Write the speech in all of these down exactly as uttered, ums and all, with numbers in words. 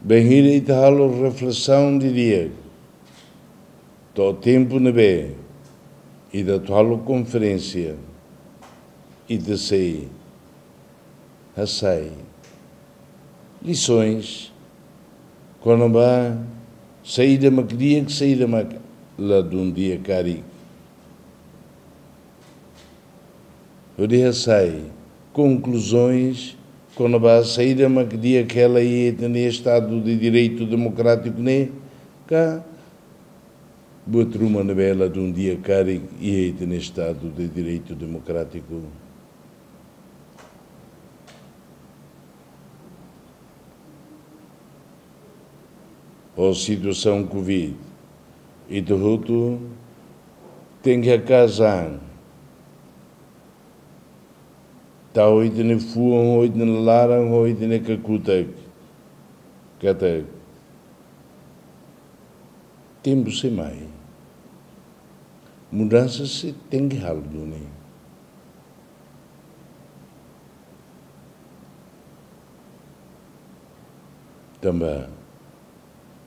Bainhira ita halo reflesaun didi'ak, to'o tempu ne'ebé ita atu halo konferénsia, ita sei hasai lisoens kona-ba saida mak di'ak, saida mak ladún di'ak karik. Hodi hasai konkluzoens kona-ba saida mak di'ak hela iha ita-nia Estadu de Direitu Demokrátiku ne'e, ka buat ruma ne'ebé ladún di'ak karik iha ita-nia Estadu de Direitu Demokrátiku. Ho situasaun Covid, ita hotu tenke haka'as an. Tau ita-nia fuan, ho ita-nia laran, ho ita-nia kakutak. Katak tempu sei mai. Mudansa sei tenke halo duni. Tanba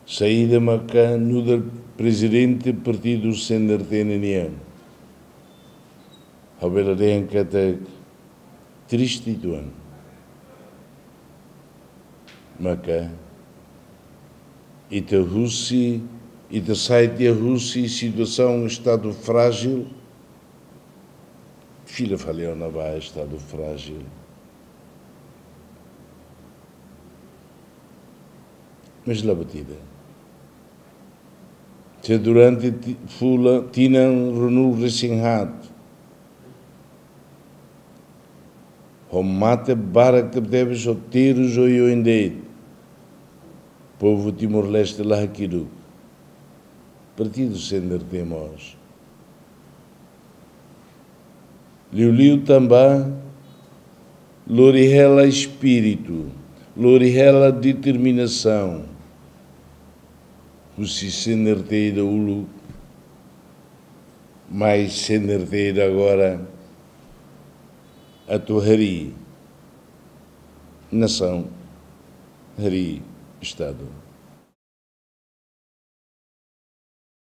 saida maka nu'udar prezidente partidu C N R T nian, ha'u bele dehan katak triste uitoan. Maka ita husi, ita sai tiha husi situasaun estadu frájil, fila fali ona ba estadu frájil. Mas la buat ida. Se durante ti-, fulan, tinan ruanulu-resin-haat, ho mate barak tebetebes, ho terus oioin de'it, povu Timor-Leste la hakiduk. Partidu C N R T mós. Liuliu tanba lori hela espíritu, lori hela determinasaun husi C N R T ida uluk, mai C N R T ida agora, atu harii nasaun, harii estadu.